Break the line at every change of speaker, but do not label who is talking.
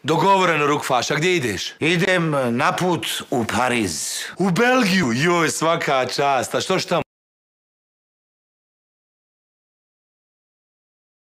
Dogovoreno, Rukfaš, a gdje ideš?
Idem na put u Pariz.
U Belgiju, joj, svaka čast, a što tamo?